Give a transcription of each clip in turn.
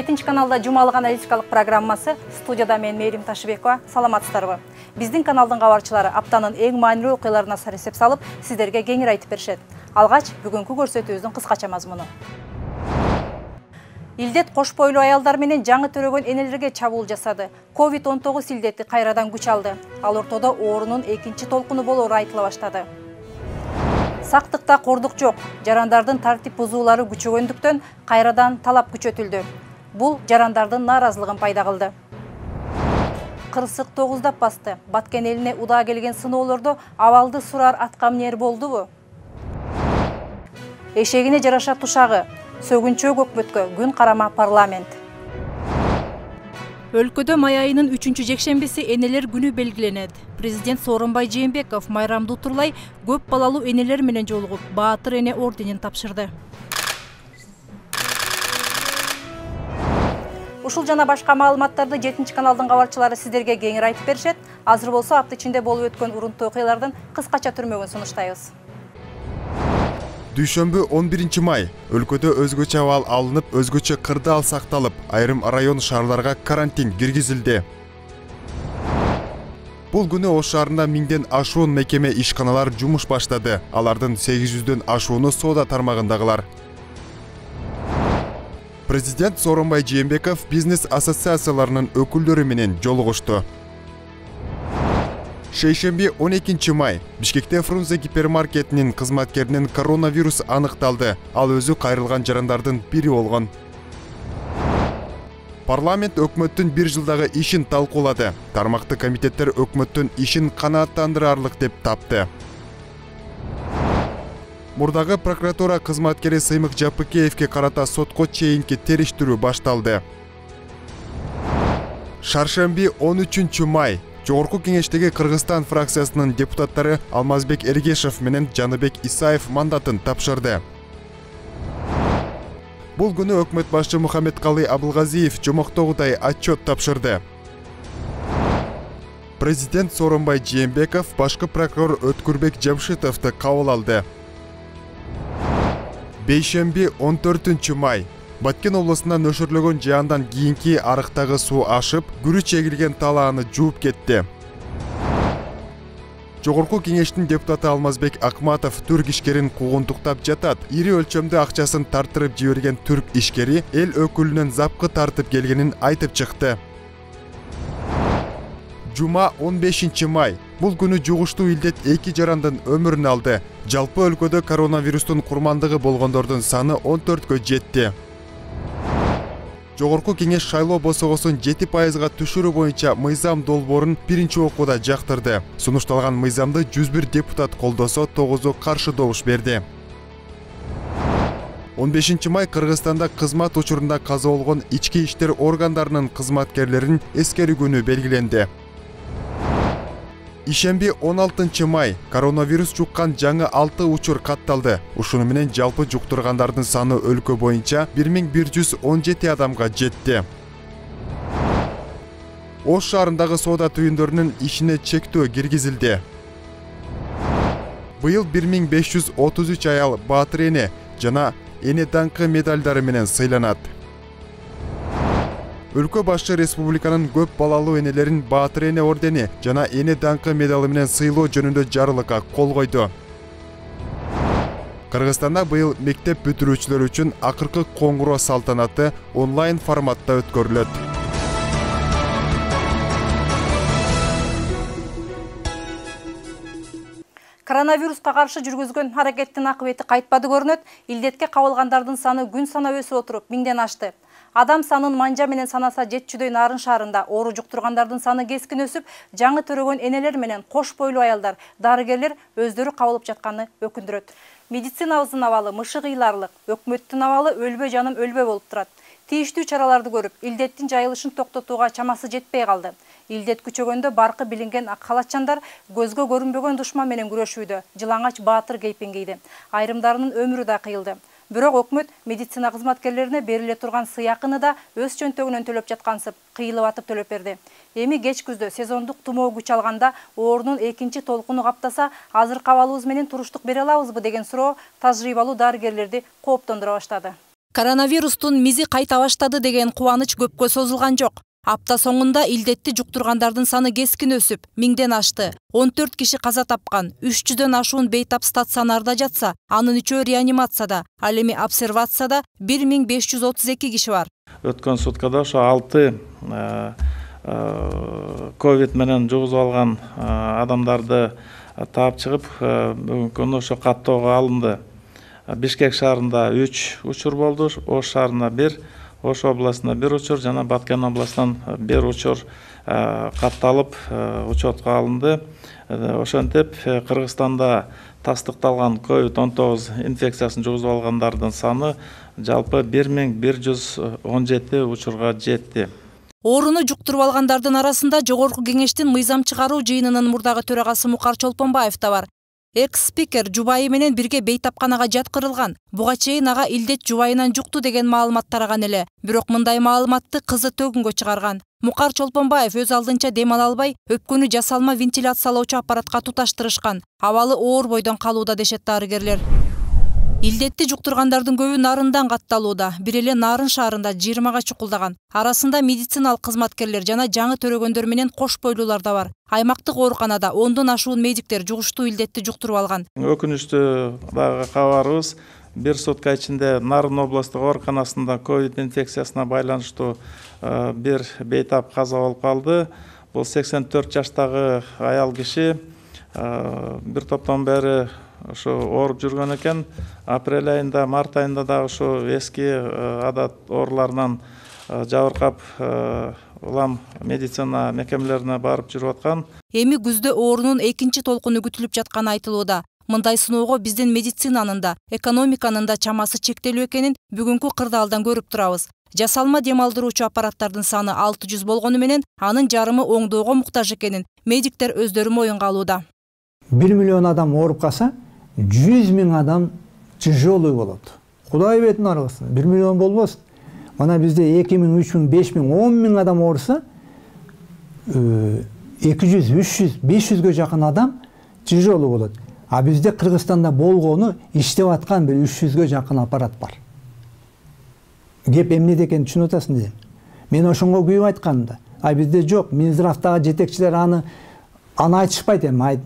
7 каналда жумалык аналитикалык программасы. Студияда мен Мээрим Ташыбекова. Саламатсыздарбы? Биздин каналдын кабарчылары аптанын эң маанилүү окуяларына эсеп салып, сиздерге кеңири айтып беришет. Алгач, бүгүнкү көрсөтүүбүздүн кыскача мазмуну. Илдет кош бойлуу аялдар менен жаңы төрөгөн энелерге чабуул жасады. COVID-19 илдети кайрадан күч алды. Ал ортодо оорунун экинчи толкуну болоору айтыла баштады. Сактыкта кордук жок. Жарандардын тартип бузуулары күчөгөндүктөн кайрадан талап күчөтүлдү. Бул жарандардын нааразылыгын пайда кылды. Кырсык 9 басты. Баткен элине удаа келген сыноолордо абалды сурар аткамнер болдубу? Эшегине жараша тушагы. Сөгүнчөө өкмөткө күн карама парламент. Өлкөдө май айынын 3-чү жекшембиси энелер күнү белгиленет. Президент Сооронбай Жээнбеков майрамды утурлай көп балалуу энелер менен жолугуп, Баатыр эне орденин тапшырды. Ушул жана башка маалыматтарды 7 каналдын кабарчылары сиздерге кеңири айтып беришет. Азыр болсо апта ичинде болуп өткөн урунттуу окуялардын кыскача түрмөгүн сунуштайбыз. Дүйшөмбү 11 май өлкөдө өзгөчө абал алынып, өзгөчө кырдаал сакталып, айрым район шаарларга карантин киргизилди. Бул күнү Ош шаарында 1000ден ашуун мекеме ишканалар жумуш баштады. Алардын 800дөн ашууну соода тармагындагылар. Президент Сооронбай Жээнбеков бизнес ассоциацияларынын өкүлдөрү менен жолугушту. Шейшемби 12 май Бишкекте Фрунзе гипермаркетинин кызматкеринин коронавирус аныкталды. Ал өзү кайрылган жарандардын бири болгон. Парламент өкмөттүн 1 жылдагы ишин талкуулады. Тармактуу комитеттер өкмөттүн ишин канааттандырарлык деп тапты. Мурдагы прокуратура кызматкери Сыймык Жапыкеевке карата сотко чейинки териштирүү башталды. Шаршемби 13 май Жогорку кеңештеги Кыргызстан фракциясынын депутаттары Алмазбек Эргешев менен Жаныбек Исаев мандатын тапшырды. Бул күнү өкмөт башчы Мухаммедкалый Абылгазиев жомоктогудай отчет тапшырды. Президент Сооронбай Жээнбеков башкы прокурор Өткүрбек Жамшитовду кабыл алды. Бейшемби 14 май Баткен облусунда нөшөрлөгөн жаандан кийинки арыктагы суу ашып, күрү чегилген талааны жууп кетти. Жогорку кеңештин депутаты Алмазбек Акматов түрк ишкерин куугунтуктап жатат. Ири өлчөмдө акчасын тартырып жиберген түрк ишкери эл өкүлүнөн запкы тартып келгенин айтып чыкты. Жума 15 май. Бул күнү жугуштуу илдет 2 жарандын өмүрүн алды. Жалпы өлкөдө коронавирустун курмандыгы болгондордун саны 14кө жетти. Жогорку кеңеш шайлоо босогосун 7%га түшүрүү боюнча мыйзам долбоорун биринчи окууда жактырды. Сунушталган мыйзамды 101 депутат колдосо, 9-у каршы добуш берди. 15 май Кыргызстанда кызмат учурунда каза болгон ички иштер органдарынын кызматкерлерин эскерүү күнү белгиленди. Ишемби 16 май коронавирус жуккан жаңы 6 учур катталды. Ушуну менен жалпы жуктургандардын саны өлкө боюнча 1117 адамга жетти. Ош шаарындагы соода түйүндөрүнүн ишине чектөө киргизилди. Быйыл 1533 аял Баатыр эне жана эне даңкы медалдары менен сыйланат. Өлкө башчы республиканын көп балалуу энелерин Баатыр эне ордени жана эне даңкы медалы менен сыйлоо жөнүндө жарлыкка кол койду. Кыргызстанда быйыл мектеп бүтүрүүчүлөр үчүн акыркы коңгуроо салтанаты онлайн форматта өткөрүлөт. Коронавируска каршы жүргүзгөн аракеттин акыбети кайтпады көрүнөт. Илдетке кабылгандардын саны күн санап өсүп отуруп 1000ден ашты. Адам санын манжа менен санаса жетчүдөй Нарын шаарында оору жуктургандардын саны кескин өсүп, жаңы төрөгөн энелер менен кош бойлуу аялдар, дарыгерлер өздөрү кабылып жатканы өкүндүрөт. Медицинабыздын абалы мышыгыйларлык, өкмөттүн абалы өлбө жаным өлбө болуп турат. Тийиштүү чараларды көрүп, илдеттин жайылышын токтотууга чамасы жетпей калды. Илдет күчөгөндө баркы билинген ак халатчандар көзгө көрүнбөгөн душман менен күрөшүүдө, жылаңач Баатыр кейпин кийди. Айрымдарынын өмүрү да кыйылды. Бирок өкмөт медицина кызматкерлерине бериле турган сыйакыны да өз чөнтөгүнөн төлөп жаткансып, кыйылып атып төлөп берди. Эми кеч күздө сезондук тумоо күч алганда оорунун экинчи толкуну каптаса, азыр кабалыбыз менен туруштук бере алабызбы деген суроо тажрыйбалуу дарыгерлерди кооптондура баштады. Коронавирустун мизи кайта баштады деген кубаныч көпкө созулган жок. Апта соңунда илдетти жуктургандардын саны кескин өсүп, 1000ден ашты. 14 киши каза тапкан, 300дөн ашуун бейтап стационарда жатса, анын 3-өө реанимацияда, ал эми обсервацияда 1532 киши бар. Өткөн суткада ошо 6 ковид менен жугузуп алган адамдарды таап чыгып, бүгүнкү күндө ошо каттоого алынды. Бишкек шаарында 3 учур болду, Ош шаарында 1, Ош областында 1 учур жана Баткен областынан 1 учур катталып учетко алынды. Ошентип Кыргызстанда тастыкталган COVID-19 инфекциясын жугузуп алгандардын саны жалпы 1117 учурга жетти. Ооруну жуктуруп алгандардын арасында Жогорку Кеңештин мыйзам чыгаруу жыйынынын мурдагы төрагасы Мукар Чолпонбаев да бар. Экс-спикер жубайы менен бирге бейтапканага жаткырылган. Буга чейин ага илдет жубайынан жукту деген маалымат тараган эле. Бирок мындай маалыматты кызы төгүнгө чыгарган. Мукар Чолпонбаев өз алдынча дем ала албай, өпкөнү жасалма вентиляциялоочу аппаратка туташтырышкан. Абалы оор бойдон калууда дешет дарыгерлер. Илдетти жуктургандардын көбү Нарындан катталууда. Бир эле Нарын шаарында 20га чукулдаган. Арасында медициналык кызматкерлер жана жаңы төрөгөндөр менен кош бойлуулар да бар. Аймактык ооруканада 10дон ашуун медиктер жугуштуу илдетти жуктуруп алган. Өкүнүчтүү дагы кабарыбыз, бир сутка ичинде Нарын облустук ооруканасында ковид инфекциясына байланыштуу бир бейтап каза болуп калды. Бул 84 жаштагы аял киши бир топтон бери ошо ооруп жүргөн экен. Апрель айында, март айында дагы ошо эски адат ооруларынан жабыркап улам медицина мекемелерине барып жүрүп аткан. Эми күздө оорунун экинчи толкуну күтүлүп жатканы айтылууда. Мындай сыноого биздин медицинанын да, экономиканын да чамасы чектелүү экенин бүгүнкү кырдаалдан көрүп турабыз. Жасалма дем алдыруучу аппараттардын саны 600 болгону менен анын жарымы оңдоого муктаж экенин медиктер өздөрү моюнга алууда. 1 миллион адам ооруп калса, 100 000 адам тяжелый болот. Кудай бетин аргысын, 1 миллион болбосун. Мана бизде 2000, 3000, 5000, 10 000 адам ооруса, 200, 300, 500гө жакын адам тяжелый болот. А бизде Кыргызстанда болгону иштеп аткан бир 300гө жакын аппарат бар. Кеп эмнеде экенин түшүнүп атасың дейм. Мен ошонго күйүп айткам да. А бизде жок, Минздравдагы жетекчилер аны айтышпайт эми,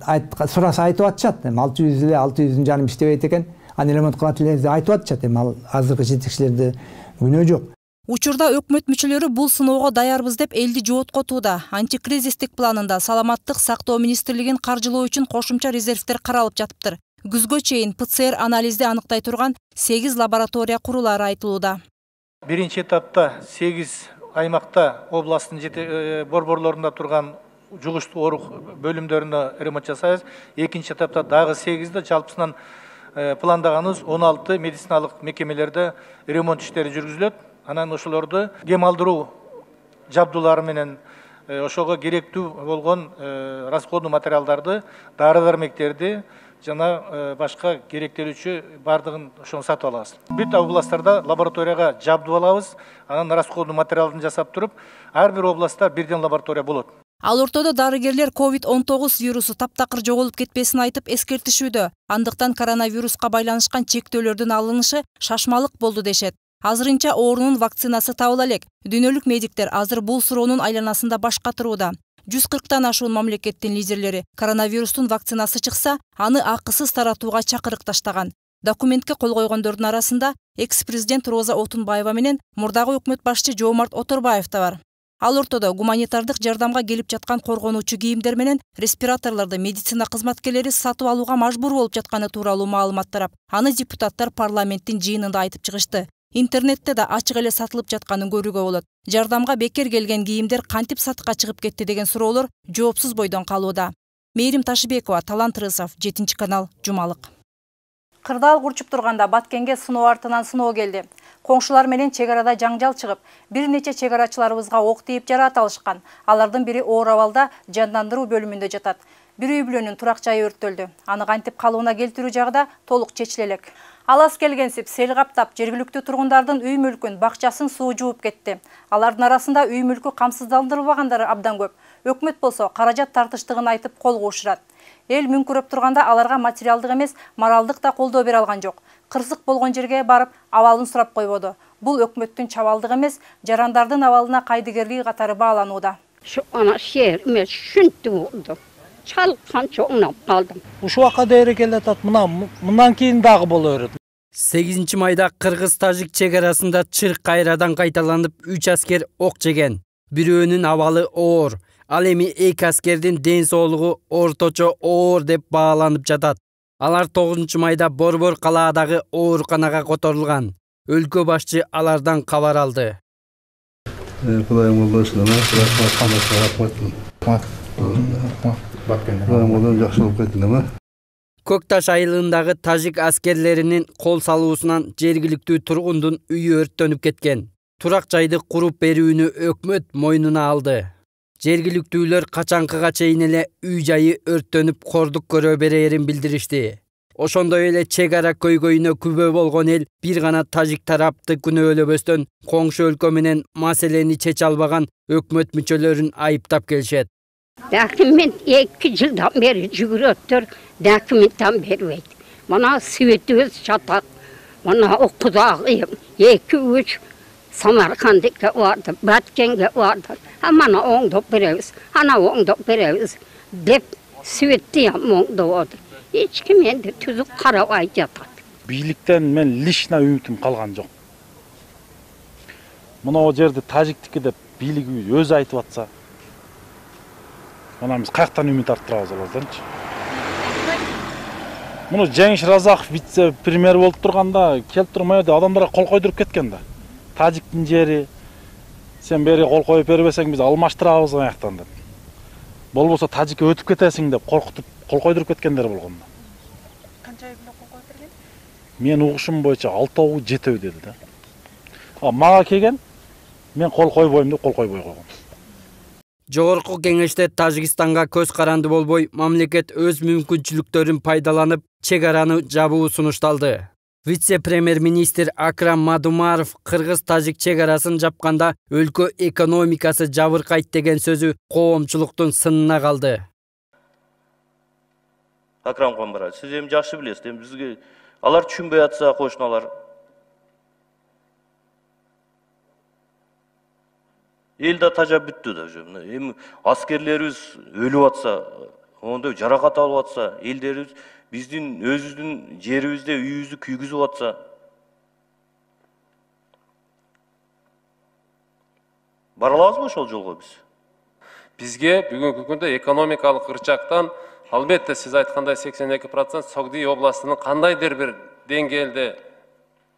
сураса айтып атышат эми 600 эле 600 иштебейт экен, аны ремонт кылат эле айтып атышат эми, ал азыркы жетекчилерде күнөө жок. Учурда өкмөт мүчөлөрү бул сыноого даярбыз деп элди жооткотууда. Антикризистик планында Саламаттык сактоо министрлигин каржылоо үчүн кошумча резервдер каралып жатыптыр. Күзгө чейин ПЦР анализди аныктай турган 8 лаборатория курулары айтылууда. Биринчи этапта 8 аймакта областтын борборлорунда турган жугуштуу оорук бөлүмдөрүнө ремонт жасайбыз. Экинчи этапта дагы 8 жалпысынан пландаганыбыз 16 медициналык мекемелерде ремонт иштери жүргүзүлөт. Анан ошолорду дем алдыруу жабдуулары менен ошого керектүү болгон расходный материалдарды, дары-дармектерди жана башка керектелүүчү бардыгын ошону сатып алабыз. Бүт областтарда лабораторияга жабдуу алабыз. Анан расходный материалын жасап туруп, ар бир областта бирден лаборатория болот. Ал ортодо дарыгерлер COVID-19 вирусу таптакыр жоголуп кетпесин айтып эскертишүүдө. Андыктан коронавируска байланышкан чектөөлөрдүн алынышы шашмалык болду дешет. Азырынча оорунун вакцинасы табыла элек. Дүйнөлүк медиктер азыр бул суроонун айланасында баш катырууда. 140тан ашуун мамлекеттин лидерлери коронавирустун вакцинасы чыкса, аны акысыз таратууга чакырык таштаган. Документке кол койгондордун арасында экс-президент Роза Отунбаева менен мурдагы өкмөт башчы Жоомарт Оторбаев да бар. Ал ортодо гуманитардык жардамга келип жаткан коргонуучу кийимдер менен респираторлорду медицина кызматкерлери сатып алууга мажбур болуп жатканы тууралуу маалымат тарап, аны депутаттар парламенттин жыйынында айтып чыгышты. Интернетте да ачык эле сатылып жатканын көрүүгө болот. Жардамга бекер келген кийимдер кантип сатыкка чыгып кетти деген суроолор жоопсуз бойдон калууда. Мээрим Ташыбекова, Талант Рысов, 7-канал, Жумалык. Кырдаал курчуп турганда Баткенге сыноо артынан сыноо келди. Коңшулар менен чек арада жаңжал чыгып, бир нече чек арачыларыбызга ок тийип жараат алышкан. Алардын бири оор абалда жандандыруу бөлүмүндө жатат. Бир үй бүлөнүн турак жайы өрттөлдү. Аны кантип калыбына келтирүү жагы да толук чечиле элек. Алас келгенсип сел каптап, жергиликтүү тургундардын үй мүлкүн, бакчасын суу жууп кетти. Алардын арасында үй мүлкү камсыздандырылбагандары абдан көп. Өкмөт болсо каражат тартыштыгын айтып колго ушурат. Эл мүңкүрөп турганда аларга материалдык эмес, моралдык да колдоо бере алган жок. кырсык болгон жерге барып абалын сурап койбоду. Бул өкмөттүн чабалдыгы эмес, жарандардын абалына кайдыгерлиги катары бааланууда. Şu ana şehrime şuntu oldu. Çalkan çoğunap kaldım. Uşu vaka değeri geletat mından keyin dagı bolur. 8 майда Кыргыз-Тажик чегарасында чырк кайрадан кайталанып 3 аскер ок жеген. Бирөөнүн абалы оор. Ал эми 2 аскердин ден соолугу орточо оор деп бааланып жатат. Алар 9 майда Борбор калаадагы ооруканага которулган. Өлкө башчы алардан кабар алды. Кудайым болбосун, жакшылык кетти. Көкташ айылындагы тажик аскерлеринин кол салуусунан жергиликтүү тургундун үйү өрттөнүп кеткен. Турак жайды куруп берүүнү өкмөт мойнуна алды. Жергиликтүүлөр качанкыга чейин эле үй жайы өрттөнүп кордук көрө берерин билдиришти. Ошондой эле чегара көйгөйүнө күбө болгон эл бир гана тажик тарапты күнөөлөбөстөн коңшу өлкө менен маселени чече албаган өкмөт мүчөлөрүн айыптап келишет. Документ 2 жылдан бeri жүгүрөттөр, документтен бербейт. Мына светибиз жатат. Мына окудагы 2-3 Самаркандыкка барды, Баткенге барды. Мана оңдоп беребиз, ана оңдоп беребиз деп светти оңдоп. Эч ким энди түзүк карабай жатат. Бийликтен мен лично үмүтүм калган жок. Мына жерде тажиктики деп бийлик өзү айтып атса, мына биз каяктан үмүт арттырабыз аларданчы. Муну Жеңиш Разаков вице-премьер болуп турганда келип турмай да адамдарга кол койдуруп кеткен да. Тажиктин жери сен бери кол коюп бербесең биз алмаштырабыз аяктан деп. Болбосо тажикке өтүп кетесиң деп коркутуп кол койдуруп кеткендер болгон. Канча үй кол коюп берген? Мен угушум боюнча 6-7 деди да. Мага келген мен кол койбойм деп кол койбой койгон. Жогорку кеңеште Тажикстанга көз каранды болбой, мамлекет өз мүмкүнчүлүктөрүн пайдаланып, чегараны жабуу сунушталды. Вице-премьер-министр Акрам Мадумаров Кыргыз-Тажик чегарасын жапканда өлкө экономикасы жабыркайт деген сөзү коомчулуктун сынына калды. Акрам Комбара, сиз эми жакшы билесиз, эми бизге алар түшүнбөй атса кошуналар. Эл да тажап бүттү да уже. Эми аскерлерибиз өлүп атса, ондой жаракат алып атса, элдерибиз биздин өзүбүздүн жерибизде үйүбүздү күйгүзүп атса, бара алабызбы ошол жолго биз? Бизге бүгүнкү күндө экономикалык ырчактан албетте сиз айткандай 82% Согди областынын кандайдыр бир деңгээлде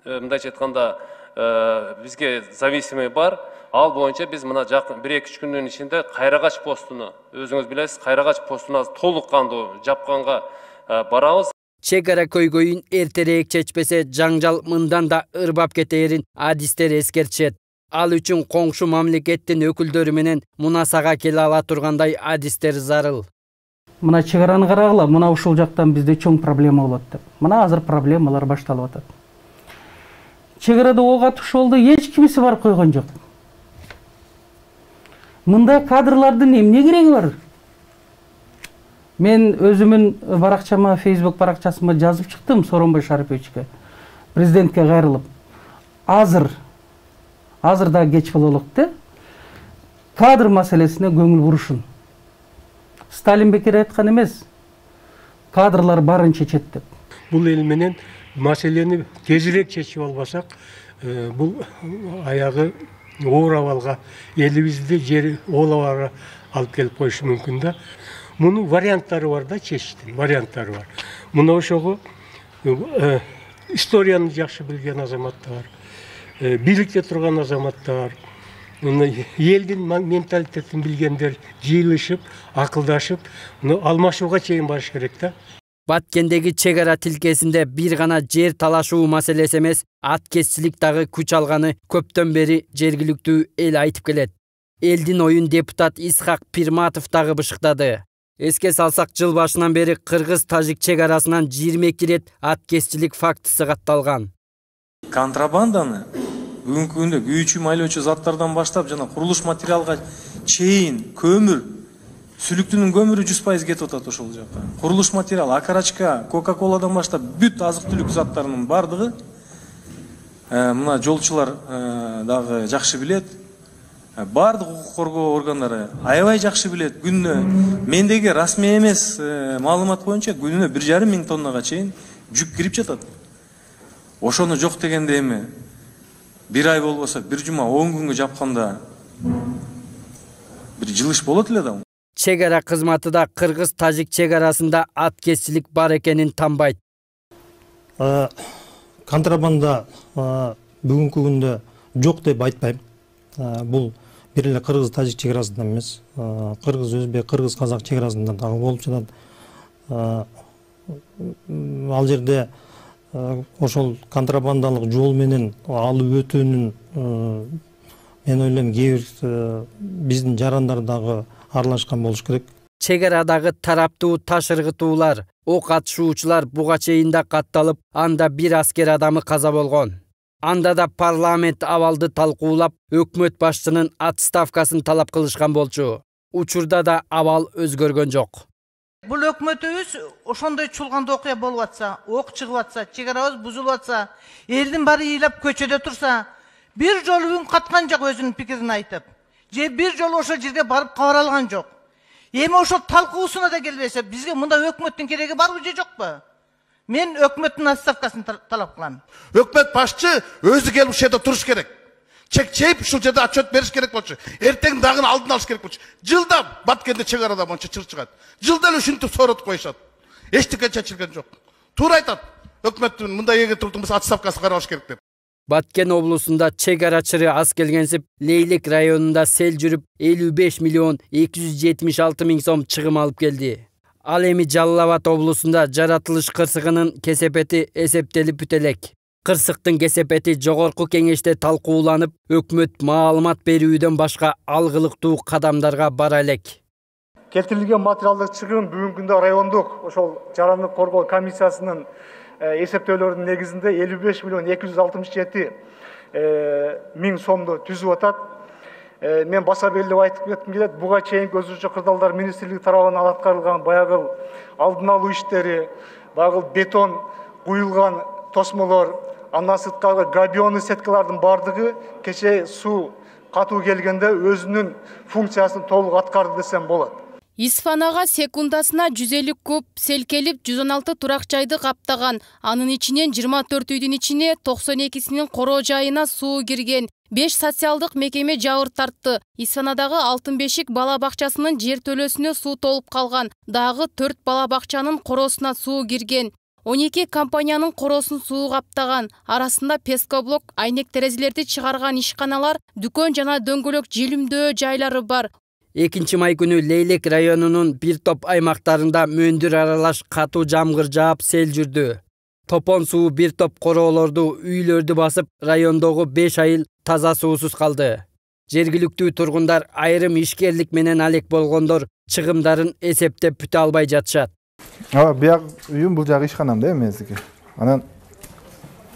мындайча айтканда бизге зависимый бар. Ал боюнча биз мына жакын 1-2 күндүн ичинде Кайрагач постуну, өзүңүз билесиз, Кайрагач постуна толук кандуу жапканга барабыз. Чегара көйгөйүн эртерээк чечпесе, жаңжал мындан да ырбап кетээрин адистер эскертишет. Ал үчүн коңшу мамлекеттин өкүлдөрү менен мунасага келе ала тургандай адистер зарыл. Мына чегараны карагыла, мына ушул жактан бизде чоң проблема болот деп. Мына азыр проблемалар башталып атат. Чегарада ок атыш болду, эч кимиси барып койгон жок. Мындай кадрлардын эмне кереги бар? Мен өзүмүн баракчама, Facebook баракчасыма жазып чыктым Сооронбай Шариповичке, президентке кайрылып. Азыр да кеч бололук да. Кадр маселесине көңүл бурушун. Сталин бекер айткан эмес. Кадрлар барын чечет деп. Бул эл менен маселени тезирээк чечип албасак, бул аягы оор абалга, элибизди жери оолабага алып келип коюшу мүмкүн да. Мунун варианттары бар да, чечиштин варианттары бар. Мына ошого историяны жакшы билген азаматтар, бийликте турган азаматтар, элдин менталитетин билгендер жыйылышып, акылдашып, алмашууга чейин барыш керек да. Баткендеги чегара тилкесинде бир гана жер талашуу маселеси эмес, аткезчилик дагы күч алганы көптөн бери жергиликтүү эл айтып келет. Элдин оюн депутат Исхак Пирматов дагы бышыктады. Эске салсак, жыл башынан бери Кыргыз-Тажик чегарасынан 22 рет аткезчилик фактысы катталган. Контрабанданы бүгүнкү күндө күйүүчү майлоочу заттардан баштап жана курулуш материалга чейин көмүр Сүлүктүнүн көмүрү 100% кетип атат ошол жака. Курулуш материалы, акарачка, Кока-коладан баштап бүт азык-түлүк заттарынын бардыгы мына жолчулар дагы жакшы билет. Бардык укук коргоо органдары аябай жакшы билет. Күнүнө мендеги расмий эмес маалымат боюнча күнүнө 1,5 миң тоннага чейин жүк кирип жатат. Ошону жок дегенде эми бир ай болбосо, бир жума 10 күнгө жапканда бир жылыш болот эле да. Чек ара кызматы да кыргыз-тажик чек арасында аткезчилик бар экенин танбайт. Контрабанда бүгүнкү күндө жок деп айтпайм. Бул бир эле кыргыз-тажик чек арасында эмес, кыргыз-өзбек, кыргыз-казак чек арасында дагы болуп жатат. Ал жерде ошол контрабандалык жол менен алып өтүүнүн мен ойлойм кээ бир биздин жарандар дагы аралашкан болуш керек. Чек арадагы тараптуу таш ыргытуулар, ок атышуучулар буга чейин да катталып, анда бир аскер адамы каза болгон. Анда да парламент абалды талкуулап, өкмөт башчынын отставкасын талап кылышкан болчу. Учурда да абал өзгөргөн жок. Бул өкмөтүбүз ошондой чулганда окуя болуп атса, ок чыгып атса, чек арабыз бузулуп атса, элдин баары ыйлап көчөдө турса, бир жолу үн каткан жок өзүнүн пикирин айтып. Же бир жолу ошол жерге барып кабар алган жок. Эми ошол талкуусуна да келбесе, бизге мында өкмөттүн кереги барбы же жокпу? Мен өкмөттүн отставкасын талап кылам. Өкмөт башчы өзү келип ушул жерде туруш керек. Чек чейип ушул жерде отчет бериш керек болчу. Эртең дагы алдын алыш керек болчу. Жылда Баткенде чек арада монча чыр чыгат. Жылда эле ушинтип соротуп коюшат. Эчтеке чечилген жок. Туура айтат. Өкмөттүн мындай эге турдун болсо отставкасы каралыш керек деп. Баткен облусунда чек ара чыры аз келгенсип, Лейлек районунда сел жүрүп 55 миллион 276 миң сом чыгым алып келди. Ал эми Жалал Абад облусунда жаратылыш кырсыгынын кесепети эсептелип бүтө элек. Кырсыктын кесепети жогорку кеңеште талкууланып, өкмөт маалымат берүүдөн башка алгылыктуу кадамдарга бара элек. Келтирилген материалдык чыгым бүгүнкү күндө райондук ошол жарандык коргоо комиссиясынын эсептөөлөрүнүн негизинде 55 миллион 267 миң сомду түзүп атат. Мен баса белгилеп айтып кетким келет. Буга чейинки өзүнчө кырдаалдар министрлиги тарабынан аткарылган баягы алдын алуу иштери, баягы бетон куюлган тосмолор, андан сырткары габионный сеткалардын бардыгы кечээ суу катуу келгенде өзүнүн функциясын толук аткарды десем болот. Исфанага секундасына 150 куб сел келип 116 турак жайды каптаган. Анын ичинен 24 үйдүн ичине 92синин короо жайына суу кирген. 5 социалдык мекеме жабыр тартты. Исфанадагы Алтын Бешик бала бакчасынын жер төлөсүнө суу толуп калган. Дагы 4 бала бакчанын короосуна суу кирген. 12 компаниянын короосун суу каптаган. Арасында пескоблок, айнек терезелерди чыгарган ишканалар, дүкөн жана дөңгөлөк желимдөө жайлары бар. 2 май күнү Лейлек районунун бир топ аймактарында мөндүр аралаш катуу жамгыр жаап сел жүрдү. Топон суу бир топ короолорду, үйлөрдү басып, райондогу 5 айыл таза суусуз калды. Жергиликтүү тургундар айрым ишкерлик менен алек болгондор чыгымдарын эсептеп бүтө албай жатышат. Бияк үйүм бул жагы ишканам да эмездики. Анан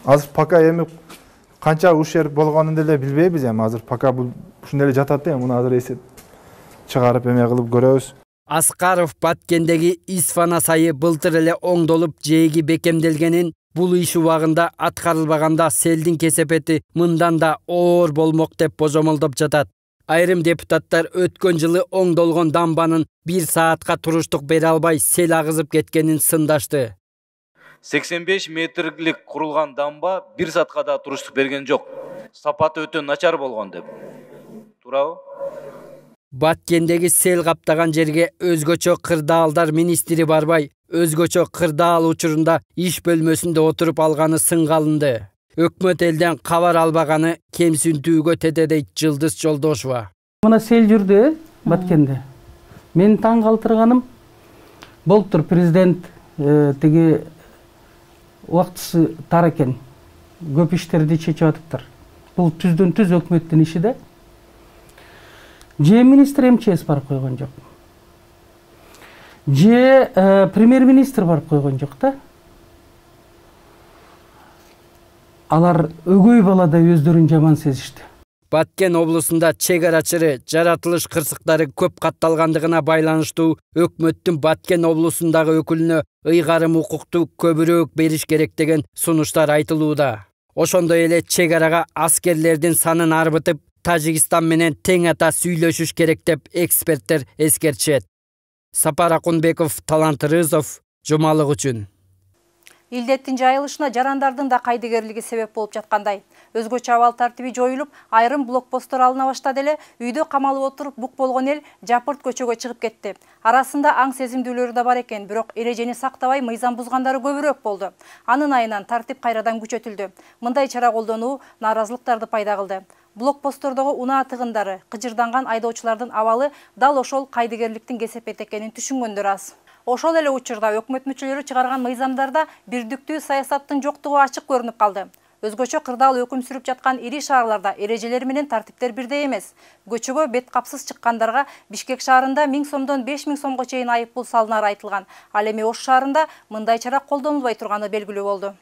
азыр пока эми канча ушер болгонун деле билбейбиз эми. Азыр пока бул ушундай эле жатат да, муну азыр эсеп чыгарып эме кылып көрөбүз. Аскаров Баткендеги Исфана сайы былтыр эле оңдолуп жээги бекемделгенин, бул иш убагында аткарылбаганда селдин кесепети мындан да оор болмок деп божомолдоп жатат. Айрым депутаттар өткөн жылы оңдолгон дамбанын 1 саатка туруштук бере албай сел агызып кеткенин сындашты. 85 метрлик курулган дамба 1 саатка да туруштук берген жок. Сапаты өтө начар болгон деп. Туурабы? Баткендеги сел каптаган жерге өзгөчө кырдаалдар министри барбай, өзгөчө кырдаал учурунда иш бөлмөсүндө отуруп алганы сынга алынды. Өкмөт элден кабар албаганы кемсинтүүгө тете дейт Жылдыз Жолдошова. Мына сел жүрдү Баткенде. Мен таң калтырганым болуптур президент тиги убактысы тар экен. Көп иштерди чечип атыптыр. Бул түздөн түз өкмөттүн иши да. Же министр МЧС барып койгон жок. Же премьер-министр барып койгон жок да. Алар өгөй баладай өздөрүн жаман сезишти. Баткен облусунда чек арачыры жаратылыш кырсыктары көп катталгандыгына байланыштуу өкмөттүн Баткен облусундагы өкүлүнө ыйгарым укукту көбүрөөк бериш керек деген сунуштар айтылууда. Ошондой эле чек арага аскерлердин санын арбытып, Тажикстан менен тең ата сүйлөшүш керек деп эксперттер эскертишет. Сапар Акунбеков, Талант Рызов, Жумалык үчүн. Илдеттин жайылышына жарандардын да кайдыгерлиги себеп болуп жаткандай. Өзгөчө абал тартиби жоюлуп, айрым блокпосттор алына баштады эле, үйдө камалып отуруп бук болгон эл жапырт көчөгө чыгып кетти. Арасында аң сезимдүүлөрү да бар экен, бирок эрежени сактабай мыйзам бузгандары көбүрөөк болду. Анын айынан тартип кайрадан күчөтүлдү. Мындай чара колдонуу нааразылыктарды пайда кылды. Блокпосттордогу унаа тыгындары, кыжырданган айдоочулардын абалы дал ошол кайдыгерликтин кесепети экенин түшүнгөндөр аз. Ошол эле учурда өкмөт мүчөлөрү чыгарган мыйзамдарда бирдиктүү саясаттын жоктугу ачык көрүнүп калды. Өзгөчө кырдаал өкүм сүрүп жаткан ири шаарларда эрежелер менен тартиптер бирдей эмес. Көчөгө бет капсыз чыккандарга Бишкек шаарында 1000 сомдон 5000 сомго чейин айыппул салынары айтылган. Ал эми Ош шаарында мындай чара колдонулбай турганы белгилүү болду.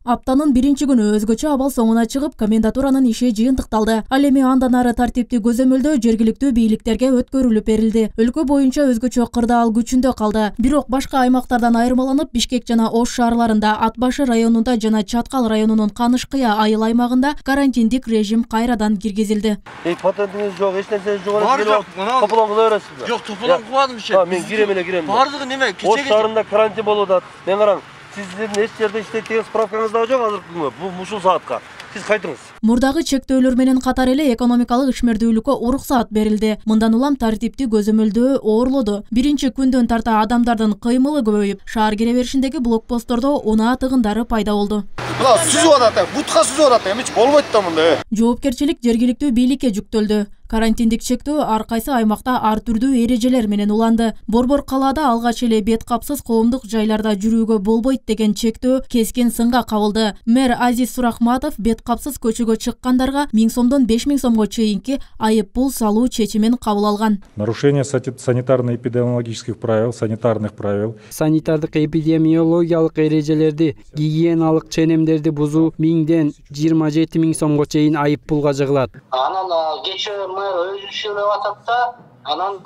Аптанын биринчи күнү өзгөчө абал соңуна чыгып, комендатуранын иши жыйынтыкталды. Ал эми андан ары тартипти көзөмөлдөө жергиликтүү бийликтерге өткөрүлүп берилди. Өлкө боюнча өзгөчө кырдаал күчүндө калды. Бирок башка аймактардан айырмаланып, Бишкек жана Ош шаарларында, Ат башы районунда жана Чаткал районунун Канышкыя айыл аймагында карантиндик режим кайрадан киргизилди. Патентиңиз жок, эч нерсеңиз жок эле. Тополон кыла бересизби? Жок, тополон кылбадым иши. Мен кирем. Бардыгы неме? Ош шаарында карантин болуп атат. Мен караң. Сиздин эч жерде иштейт деген справкаңыз дагы жок азыркы күнгө. Бул ушул саатка. Сиз кайтыңыз. Мурдагы чектөөлөр менен катар эле экономикалык ишмердүүлүккө уруксаат берилди. Мындан улам тартипти көзөмөлдөө оорлоду. Биринчи күндөн тарта адамдардын кыймылы көбөйүп, шаар кире беришиндеги блокпосттордо унаа тыгындары пайда болду. Мына сүзүп атат, бутка сүзүп атат, эмичи болбойт да мындай. Жоопкерчилик жергиликтүү бийликке жүктөлдү. Карантиндик чектөө ар кайсы аймакта ар түрдүү эрежелер менен уланды. Борбор калаада алгач эле бет капсыз коомдук жайларда жүрүүгө болбойт деген чектөө кескин сынга кабылды. Мэр Азиз Сурахматов бет капсыз көчөгө чыккандарга 1000 сомдон 5000 сомго чейинки айыппул салуу чечимин кабыл алган. Нарушение санитарно-эпидемиологических правил, санитарных правил. Санитардык эпидемиологиялык эрежелерди, гигиеналык ченемдерди бузуу 1000ден 27 000 сомго чейин айыппулга жыгылат. Анан кечээ мэр өзү сүйлөп атат да, анан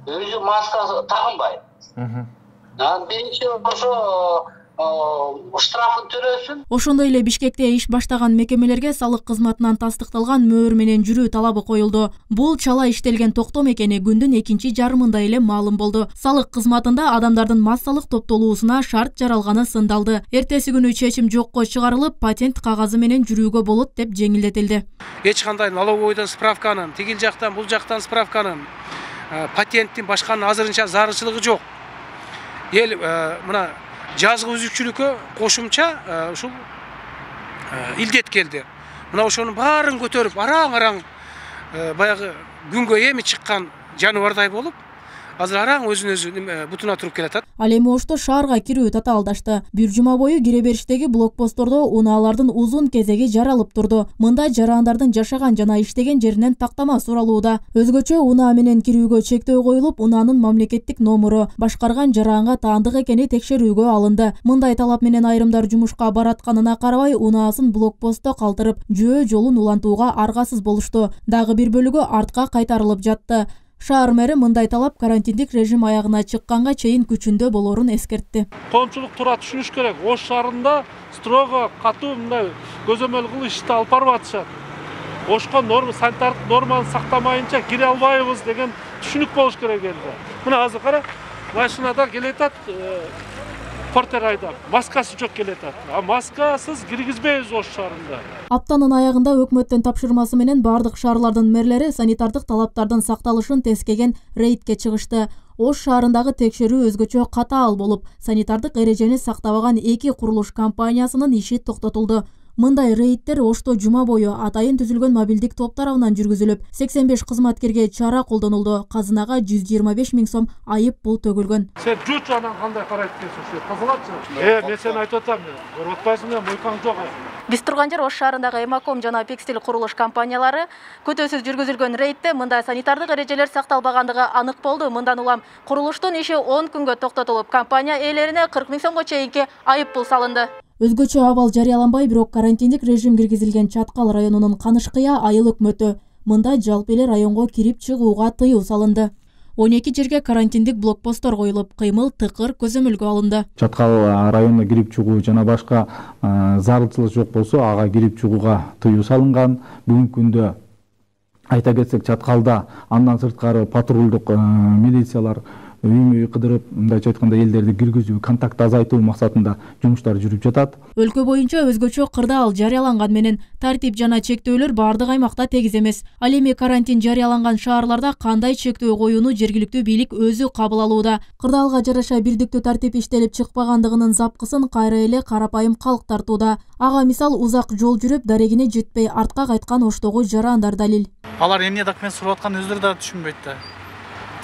өзү маска тагынбайт. Биринчи ошо штрафын төлөсүн. Ошондой эле Бишкекте иш баштаган мекемелерге салык кызматынан тастыкталган мөөр менен жүрүү талабы коюлду. Бул чала иштелген токтом экени күндүн экинчи жарымында эле маалым болду. Салык кызматында адамдардын массалык топтолуусуна шарт жаралганы сындалды. Эртеси күнү чечим жокко чыгарылып, патент кагазы менен жүрүүгө болот деп жеңилдетилди. Эч кандай налоговойдон справканын, тигил жактан, бул жактан справканын, патенттин башканын азырынча зарылчылыгы жок. Эл мына жазгы үзүкчүлүккө кошумча ушул илдет келди. Мына ошонун баарын көтөрүп, араң-араң баягы күнгө эми чыккан жаныбардай болуп, азыр араң өзүн-өзү бутуна туруп келатат. Ал эми Ошто шаарга кирүү татаалдашты. Бир жума бою кире бериштеги блокпосттордо унаалардын узун кезеги жаралып турду. Мында жарандардын жашаган жана иштеген жеринен тактама суралууда. Өзгөчө унаа менен кирүүгө чектөө коюлуп, унаанын мамлекеттик номуру, башкарган жаранга таандык экени текшерүүгө алынды. Мындай талап менен айрымдар жумушка баратканына карабай, унаасын блокпостто калтырып, жөө жолун улантууга аргасыз болушту. Дагы бир бөлүгү артка кайтарылып жатты. Шаар мэри мындай талап карантиндик режим аягына чыкканга чейин күчүндө болорун эскертти. Коомчулук туура түшүнүш керек. Ош шаарында строго катуу мындай көзөмөл кылып ишти алып барып атышат. Ошко санитардык норманы сактамайынча кире албайбыз деген түшүнүк болуш керек элде. Мына азыр кара, машинада келетат, портер айдап, маскасы жок келетат. Маскасыз киргизбейбиз Ош шаарында. Аптанын аягында өкмөттүн тапшырмасы менен бардык шаарлардын мэрлери санитардык талаптардын сакталышын тескеген рейдке чыгышты. Ош шаарындагы текшерүү өзгөчө катаал болуп, санитардык эрежени сактабаган 2 курулуш компаниясынын иши токтотулду. Мындай рейдтер Ошто жума бою атайын түзүлгөн мобилдик топ тарабынан жүргүзүлүп, 85 кызматкерге чара колдонулду. Казынага 125 000 сом айып бул төгүлгөн. Сен жут анан кандай карайт экенсиң? Тазалатчы. Мен сени айтып атам, көрүп атпайсың, мойкаң жок. Биз турган жер Ош шаарындагы Эмаком жана Пекстил курулуш компаниялары көтөсүз жүргүзүлгөн рейдте мындай санитардык эрежелер сакталбагандыгы анык болду. Мындан улам курулуштун иши 10 күнгө токтотулуп, компания ээлерине 40 000 сомго чейинки айып пул салынды. Өзгөчө абал жарыяланбай, бирок карантиндик режим киргизилген Чаткал районунун Канышкыя айыл өкмөтү. Мында жалпы эле районго кирип чыгууга тыюу салынды. 12 жерге карантиндик блокпосттор коюлуп, кыймыл тыкыр көзөмөлгө алынды. Чаткал районуна кирип чыгуу жана башка зарылчылык жок болсо, ага кирип чыгууга тыюу салынган. Бүгүнкү күндө айта кетсек, Чаткалда андан сырткары патрулдук милициялар үй кыдырып, мындайча айтканда элдерди киргизүү, контакт азайтуу максатында жумуштар жүрүп жатат. Өлкө боюнча өзгөчө кырдаал жарыяланган менен тартип жана чектөөлөр бардык аймакта тегиз эмес. Ал эми карантин жарыяланган шаарларда кандай чектөө коюуну жергиликтүү бийлик өзү кабыл алууда. Кырдаалга жараша бирдиктүү тартип иштелип чыкпагандыгынын запкысын кайра эле карапайым калк тартууда. Ага мисал узак жол жүрүп, дарегине жетпей артка кайткан оштогу жарандар далил. Алар эмне документ сурап атканын өздөрү да түшүнбөйт да.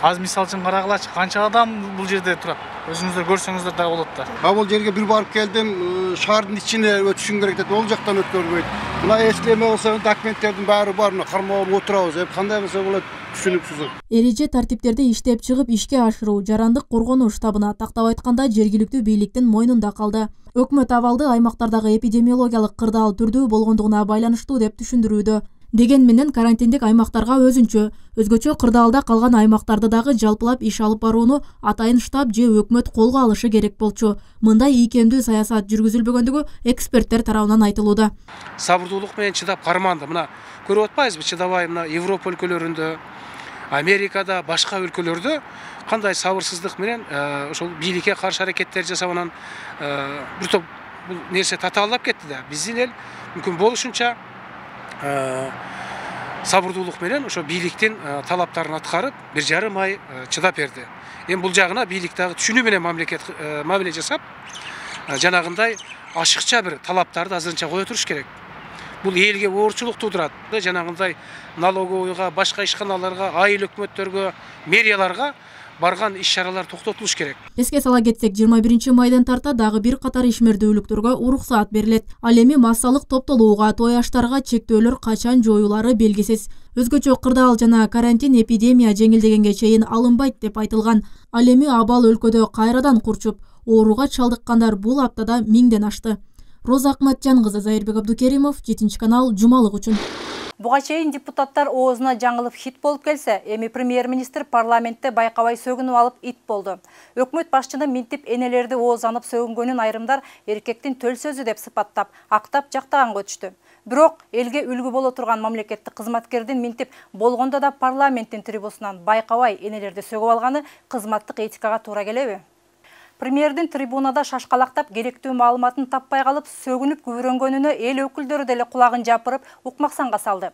Аз мисал үчүн карагылачы, канча адам бул жерде турат. Өзүңүздөр көрсөңүздөр да болот да. Бул жерге бир барып келдим, шаардын ичине өтүшүң керек деп, ол жактан өткөрбөйт. Мына эслеме болсо, документтердин баары бар, мына кармоого отурабыз. Кандай болсо болот, түшүнүксүз. Эреже тартиптерди иштеп чыгып ишке ашыруу жарандык коргонуу штабына, тактап айтканда жергиликтүү бийликтин мойнунда калды. Өкмөт абалды аймактардагы эпидемиологиялык кырдаал түрдүү болгондугуна байланыштуу деп түшүндүрүүдө. Деген менен карантиндик аймактарга өзгөчө кырдаалда калган аймактарды дагы жалпылап иш алып барууну атайын штаб же өкмөт колго алышы керек болчу. Мындай ийкемдүү саясат жүргүзүлбөгөндүгү эксперттер тарабынан айтылууда. Сабырдуулук менен чыдап карманды. Мына көрүп атпайбызбы, чыдабай мына Европа өлкөлөрүндө, Америкада, башка өлкөлөрдө кандай сабырсыздык менен ошол бийликке каршы аракеттер жасап, анан бир топ бул нерсе татаалдап кетти да. Биздин эл мүмкүн болушунча сабырдуулук менен ошо бийликтин талаптарын аткарып, 1,5 ай чыдап берди. Эми бул жагына бийлик дагы түшүнүү менен мамиле жасап, жанагындай ашыкча бир талаптарды азырынча кое туруш керек. Бул элге оорчулук туудурат. Жанагындай налоговойго, башка ишканаларга, айыл өкмөттөргө, мэрияларга барган иш-чаралар токтотулуш керек. Эске сала кетсек, 21 майдан тарта дагы бир катар ишмердүүлүктөргө уруксаат берилет. Ал эми массалык топтолууга, той аштарга чектөөлөр качан жоюлары белгисиз. Өзгөчө кырдаал жана карантин эпидемия жеңилдегенге чейин алынбайт деп айтылган. Ал эми абал өлкөдө кайрадан курчуп, ооруга чалдыккандар бул аптада 1000ден ашты. Роза Акматжан кызы, Зайырбек Абдукеримов, 7 канал, жумалык үчүн. Буга чейин депутаттар оозуна жаңылып хит болуп келсе, эми премьер-министр парламентте байкабай сөгүнүп алып ит болду. Өкмөт башчыны минтип энелерди оозанып сөгүнгөнүн айрымдар эркектин төл сөзү деп сыпаттап, актап жактаганга өтүштү. Бирок элге үлгү боло турган мамлекеттик кызматкердин минтип болгондо да парламенттин трибунасынан байкабай энелерди сөгүп алганы кызматтык этикага туура келеби? Премьердин трибунада шашкалактап керектүү маалыматын таппай калып, сөгүнүп күбүрөнгөнүнө эл өкүлдөрү деле кулагын жапырып, укмаксанга салды.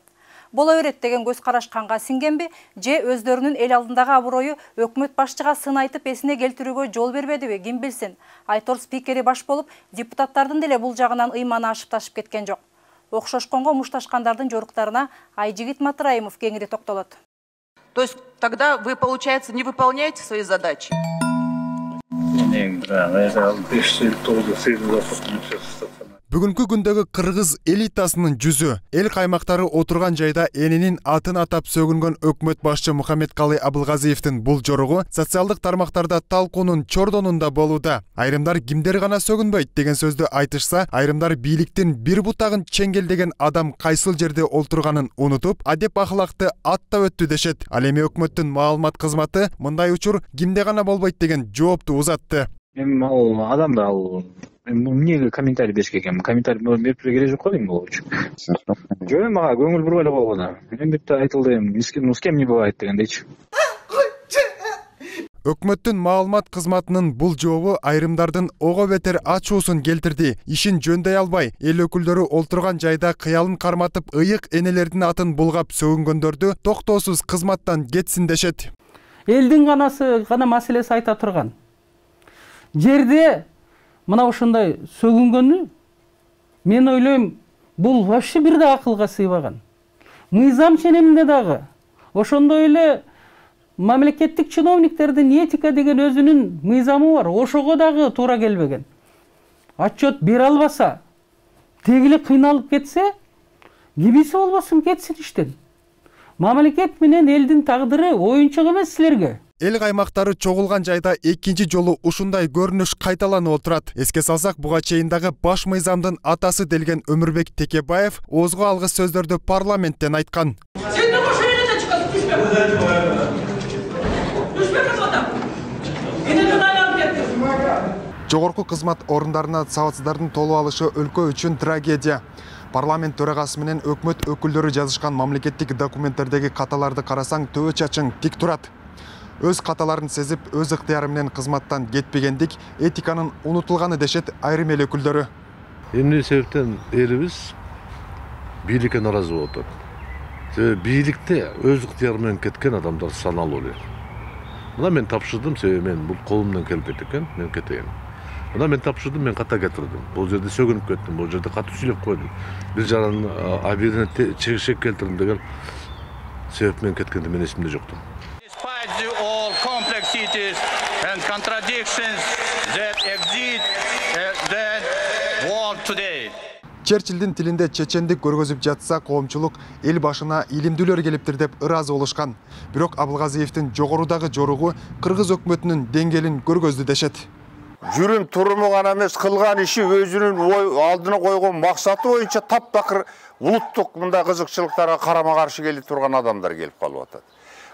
Боло берет деген көз караш канга сиңгенби, же өздөрүнүн эл алдындагы аброю өкмөт башчыга сын айтып эсине келтирүүгө жол бербедиби, ким билсин. Айтор спикери баш болуп, депутаттардын деле бул жагынан ыйманы ашып ташып кеткен жок. Окшошконго мушташкандардын жоруктарына Айжигит Матраимов кеңири токтолот. То есть тогда вы, получается, не выполняете свои задачи? Бүгүнкү күндөгү кыргыз элитасынын жүзү эл каймактары отурган жайда энинин атын атап сөгүнгөн өкмөт башчы Мухаммедкалый Абылгазиевдин бул жоругу социалдык тармактарда талкуунун чордонунда болууда. Айрымдар кимдер гана сөгүнбөйт деген сөздү айтышса, айрымдар бийликтин бир бутагын чеңгелдеген адам кайсыл жерде олтурганын унутуп, адеп ахлакты аттап өттү дешет. Ал эми өкмөттүн маалымат кызматы мындай учур кимде гана болбойт деген жоопту узатты. Эми ал адамда ал эмнеге комментарий бериш керек экен? Комментарий берип керек жок го дейм бул үчүн. Жок, мага көңүл буруп эле койгон. Эми бирте айтылды, с кем не бывает дегендейчи. Өкмөттүн маалымат кызматынын бул жообу айрымдардын ого бетер ачуусун келтирди. Ишин жөндөй албай, эл өкүлдөрү олтурган жайда кыялын карматып, ыйык энелердин атын булгап сөгүнгөндөрдү токтоосуз кызматтан кетсин дешет. Элдин канасы гана маселеси айта турган. Жерде мына ушундай сөгүнгөнү мен ойлойм, бул вообще бир да акылга сыйбаган. Мыйзам ченеминде дагы ошондой эле мамлекеттик чиновниктердин этика деген өзүнүн мыйзамы бар. Ошого дагы туура келбеген. Отчет бере албаса, тегиле кыйналып кетсе, кимиси болбосун кетсин иштен. Мамлекет менен элдин тагдыры оюнчук эмес силерге. Эл каймактары чогулган жайда экинчи жолу ушундай көрүнүш кайталанып отурат. Эске салсак, буга чейин дагы баш мыйзамдын атасы делген Өмүрбек Текебаев оозго алгыс сөздөрдү парламенттен айткан. Жогорку кызмат орундарына сабатсыздардын толуп алышы өлкө үчүн трагедия. Парламент төрагасы менен өкмөт өкүлдөрү жазышкан мамлекеттик документтердеги каталарды карасаң төбө чачың тик турат. Өз каталарын сезип, өз ыктыяры менен кызматтан кетпегендик этиканын унутулганы дешет айрым эл өкүлдөрү. Эмне себептен элибиз бийликке наразы болуп атат? Себеби бийликте өз ыктыяры менен кеткен адамдар саналуу эле. Мына мен тапшырдым, себеби мен бул колумдан келбейт экен, мен кетейин. Мына мен тапшырдым, мен ката кетирдим. Бул жерде сөгүнүп кеттим, бул жерде катуу сүйлөп койдум. Бир жаран абийирине чегишек келтирдим деген себеп менен кеткенде мен эсимде жоктум. All complexities and contradictions that exist the world today. Черчиллдин тилинде чечендик көргөзүп жатса, коомчулук эл башына илимдүүлөр келиптир деп ыраазы болушкан. Бирок Абылгазиевдин жогорудагы жоругу кыргыз өкмөтүнүн деңгээлин көргөздү дешет. Жүрүм туруму гана эмес, кылган иши өзүнүн алдына койгон максаты боюнча таптакыр улуттук мындай кызыкчылыктарга карама каршы келип турган адамдар келип калып атат.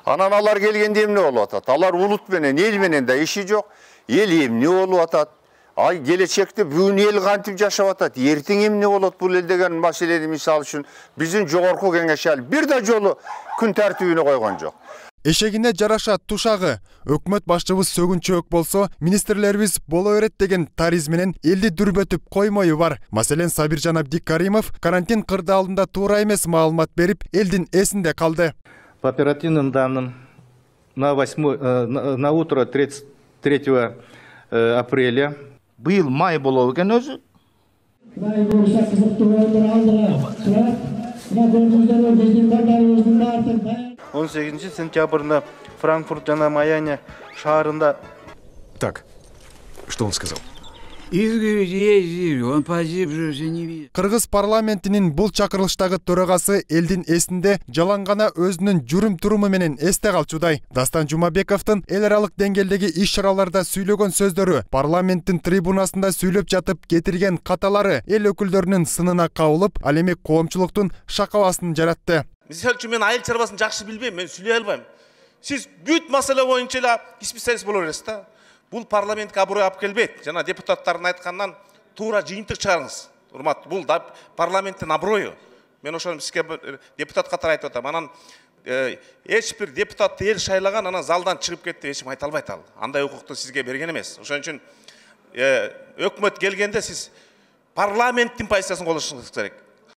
Анан алар келгенде эмне болуп атат? Алар улут менен, эл менен да иши жок. Эл эмне болуп атат? Ай келечекте бүгүн эл кантип жашап атат? Эртең эмне болот бул эл деген маселени мисал үчүн биздин жогорку кеңеш ал бир да жолу күн тартибине койгон жок. Эшегине жараша тушагы. Өкмөт башчыбыз сөгүнчөөк болсо, министрлерибиз боло берет деген тариз менен элди дүрбөтүп коймою бар. Маселен, Сабиржан Абдикаримов карантин кырдаалында туура эмес маалымат берип, элдин эсинде калды. По оперативным данным, на утро 33 апреля был май болов экен өзү. 18 сентябрда Франкфурт жана Майами шаарында. Так, что он сказал? Он погиб же, не видит. Кыргыз парламентинин бул чакырылыштагы төрагасы элдин эсинде жалаң гана өзүнүн жүрүм туруму менен эсте калчудай. Дастан Жумабековдун эл аралык деңгээлдеги иш-чараларда сүйлөгөн сөздөрү, парламенттин трибунасында сүйлөп жатып кетирген каталары эл өкүлдөрүнүн сынына кабылып, ал эми коомчулуктун шакабасын жаратты. Мисалы үчүн мен айыл чарбасын жакшы билбейм, мен сүйлөй албайм. Сиз бүт маселе боюнча эле специалист боло бересиз да. Бул парламентке аброй алып келбейт. Жана депутаттардын айткандан туура жыйынтык чыгарыңыз. Урмат, бул да парламенттин аброю. Мен ошону сизге депутат катары айтып атам. Анан эч бир депутатты эл шайлаган, анан залдан чыгып кетти, эч ким айта албайт ал. Андай укукту сизге берген эмес. Ошон үчүн өкмөт келгенде сиз парламенттин позициясын колдонушуңуз керек.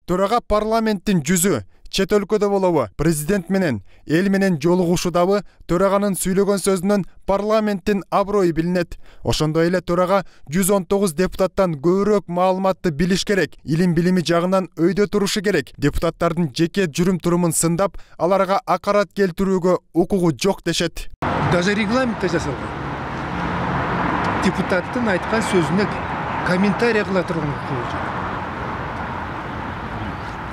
Төрага парламенттин жүзү чет өлкөдө болобу, президент менен, эл менен жолугушудабы төраганын сүйлөгөн сөзүнөн парламенттин аброю билинет. Ошондой эле төрага 119 депутаттан көбүрөөк маалыматты билиш керек, илим билими жагынан өйдө турушу керек. Депутаттардын жеке жүрүм турумун сындап, аларга акарат келтирүүгө укугу жок дешет. Даже регламентте жасалган. Депутаттын айткан сөзүнө комментарий кыла турган укугу жок.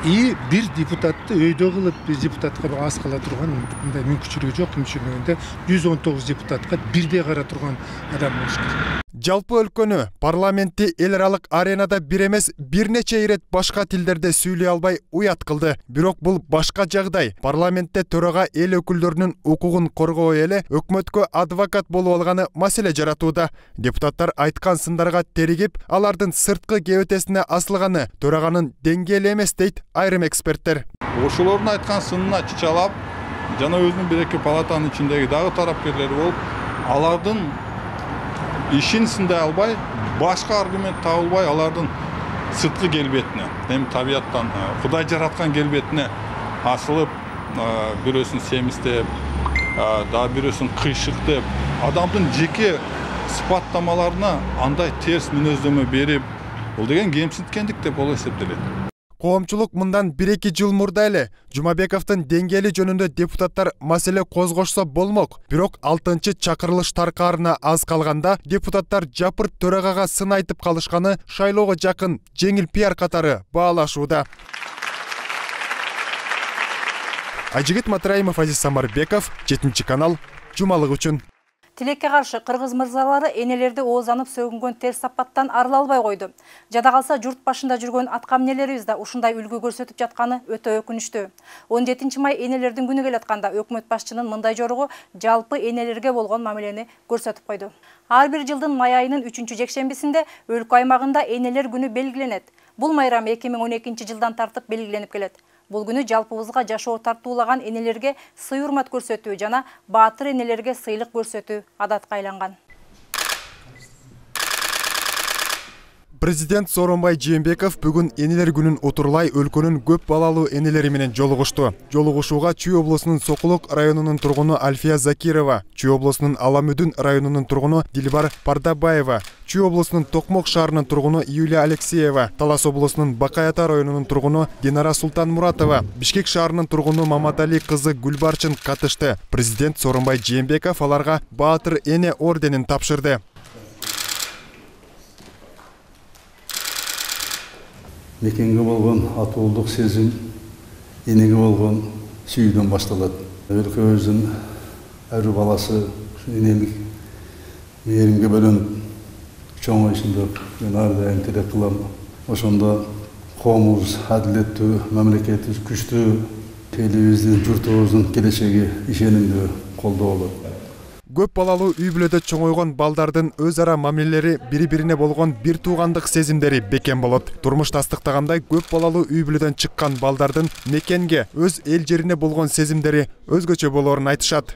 И бир депутатты өйдө кылып, бир депутатка аз кыла турган мындай мүмкүнчүлүгү жок. Мүмкүнчүлүгүндө 119 депутатка бирдей кара турган адам болуш керек. Жалпы өлкөнү, парламентти эл аралык аренада бир эмес бир нече ирет башка тилдерде сүйлөй албай уят кылды. Бирок бул башка жагдай. Парламентте төрага эл өкүлдөрүнүн укугун коргобой эле өкмөткө адвокат болуп алганы маселе жаратууда. Депутаттар айткан сындарга теригип, алардын сырткы кебетесине асылганы төраганын деңгээли эмес дейт айрым эксперттер. Ошолордун айткан сынына чычалап, жана өзүнүн бир-эки палатанын ичиндеги дагы тарапкерлери болуп, алардын ишин сындай албай, башка аргумент табылбай, алардын сырткы келбетине, эми табияттан Кудай жараткан келбетине асылып, бирөөсүн семиздеп, дагы бирөөсүн кыйшык деп, адамдын жеке сыпаттамаларына андай терс мүнөздөмө берип, бул деген кемсинткендик деп боло эсептелет. Коомчулук мындан 1-2 жыл мурда эле Жумабековдун деңгээли жөнүндө депутаттар маселе козгошсо болмок. Бирок 6-чы чакырылыш таркаарына аз калганда депутаттар жапырт төрагага сын айтып калышканы шайлоого жакын жеңил пиар катары баалашууда. Айжигит Матраимов, Азиз Самарбеков, 7 канал, жумалык үчүн. Тилекке каршы кыргыз мырзалары энелерди оозанып сөгүнгөн терс сапаттан арыла албай койду. Жада калса журт башында жүргөн аткамнелерибиз да ушундай үлгү көрсөтүп жатканы өтө өкүнүчтүү. 17 май энелердин күнү келатканда өкмөт башчынын мындай жоругу жалпы энелерге болгон мамилени көрсөтүп койду. Ар бир жылдын май айынын 3-жекшембисинде өлкө аймагында энелер күнү белгиленет. Бул майрам 2012 жылдан тартып белгиленип келет. Бул күнү жалпыбызга жашоо тартуулаган энелерге сый-урмат көрсөтүү жана баатыр энелерге сыйлык көрсөтүү адатка айланган. Президент Сооронбай Жээнбеков бүгүн энелер күнүн отурлай өлкөнүн көп балалуу энелери менен жолугушту. Жолугушууга Чүй облусунун Сокулук районунун тургуну Альфия Закирова, Чүй облусунун Аламүдүн районунун тургуну Дилбар Пардабаева, Чүй облусунун Токмок шаарынын тургуну Юлия Алексеева, Талас облусунун Бакай Ата районунун тургуну Динара Султанмуратова, Бишкек шаарынын тургуну Маматали кызы Гүлбарчын катышты. Президент Сооронбай Жээнбеков аларга Баатыр эне орденин тапшырды. Мекенге болгон атуулдук сезим, энеге болгон сүйүүдөн башталат. Өлкөбүздүн ар бир баласы энелик мээримге бөлөнүп, чоңоюшунда мен ар дайым тилек кылам. Ошондо коомубуз адилеттүү, мамлекетибиз күчтүү, элибиздин, журтубуздун келечеги ишенимдүү колдоо болот. Көп балалуу үй бүлөдө чоңойгон балдардын өз ара мамилелери бири-бирине болгон бир туугандык сезимдери бекем болот. Турмуш тастыктагандай көп балалуу үй бүлөдөн чыккан балдардын мекенге, өз эл жерине болгон сезимдери өзгөчө болоорун айтышат.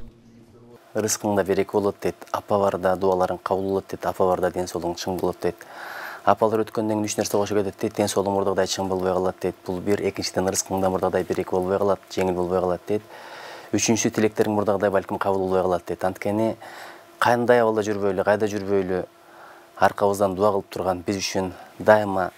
Рызкыңда береке болот дейт, апа барда дуаларың кабыл болот дейт, апа барда ден соолугуң чың болот дейт. Апалар өткөндөн кийин 3 нерсе кошо кетет дейт, ден соолугуң мурдагыдай чың болбой калат дейт. Бул бир, экинчиден рызкыңда мурдагыдай береке болбой калат, жеңил болбой калат дейт. Үчүнчү тилектериң мурдагыдай балким кабыл болбой калат дейт. Анткени кандай абалда жүрбөйлү, кайда жүрбөйлү аркабыздан дуа кылып турган, биз үчүн дайыма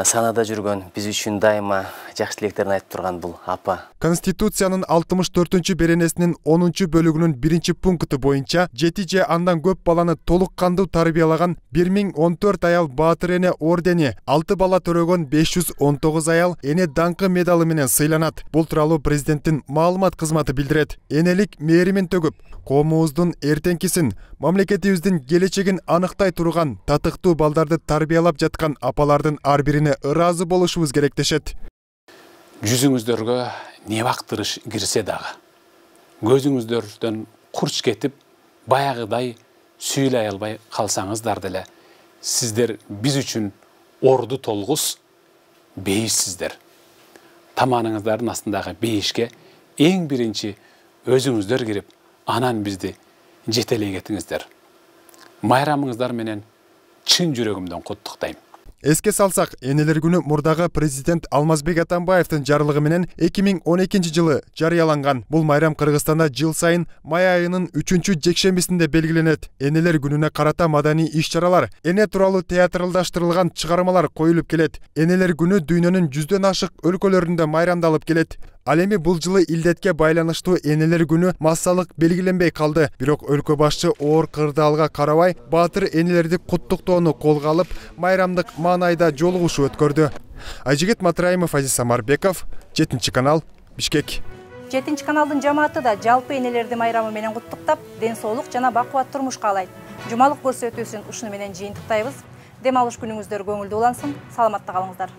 санада жүргөн, биз үчүн дайыма жакшы тилектерин айтып турган бул апа. Конституциянын 64-беренесинин 10-бөлүгүнүн 1-пункту боюнча 7 же андан көп баланы толук кандуу тарбиялаган 1014 аял Баатыр эне ордени, 6 бала төрөгөн 519 аял эне даңкы медалы менен сыйланат. Бул тууралуу президенттин маалымат кызматы билдирет. Энелик мээримин төгүп, коомубуздун эртеңкисин, мамлекетибиздин келечегин аныктай турган татыктуу балдарды тарбиялап жаткан апалардын ар бирине ыраазы болушубуз керек дешет. Жүзүңүздөргө не бактырыш кирсе дагы, көзүңүздөрдөн курч кетип, баягыдай сүйлөй албай калсаңыздар деле, сиздер биз үчүн орду толгус бейишсиздер. Таманыңыздардын астындагы бейишке эң биринчи өзүңүздөр кирип, анан бизди жетелей кетиңиздер. Майрамыңыздар менен чын жүрөгүмдөн куттуктайм. Эске салсак, энелер күнү мурдагы президент Алмазбек Атамбаевдин жарлыгы менен 2012 жылы жарыяланган. Бул майрам Кыргызстанда жыл сайын май айынын 3-жекшембисинде белгиленет. Энелер күнүнө карата маданий иш-чаралар, эне тууралуу театралдаштырылган чыгармалар коюлуп келет. Энелер күнү дүйнөнүн 100дөн ашык өлкөлөрүндө майрамдалып келет. Ал эми бул жылы илдетке байланыштуу энелер күнү массалык белгиленбей калды. Бирок өлкө башчы оор кырдаалга карабай, баатыр энелерди куттуктоону колго алып, майрамдык маанайда жолугушуу өткөрдү. Айжигит Матраимов, Азиз Самарбеков, 7-канал, Бишкек. 7-каналдын жамааты да жалпы энелерди майрамы менен куттуктап, ден соолук жана бакубат турмуш каалайт. Жумалык көрсөтүүсүн ушуну менен жыйынтыктайбыз. Дем алыш күнүңүздөр көңүлдүү улансын. Саламатта калыңыздар.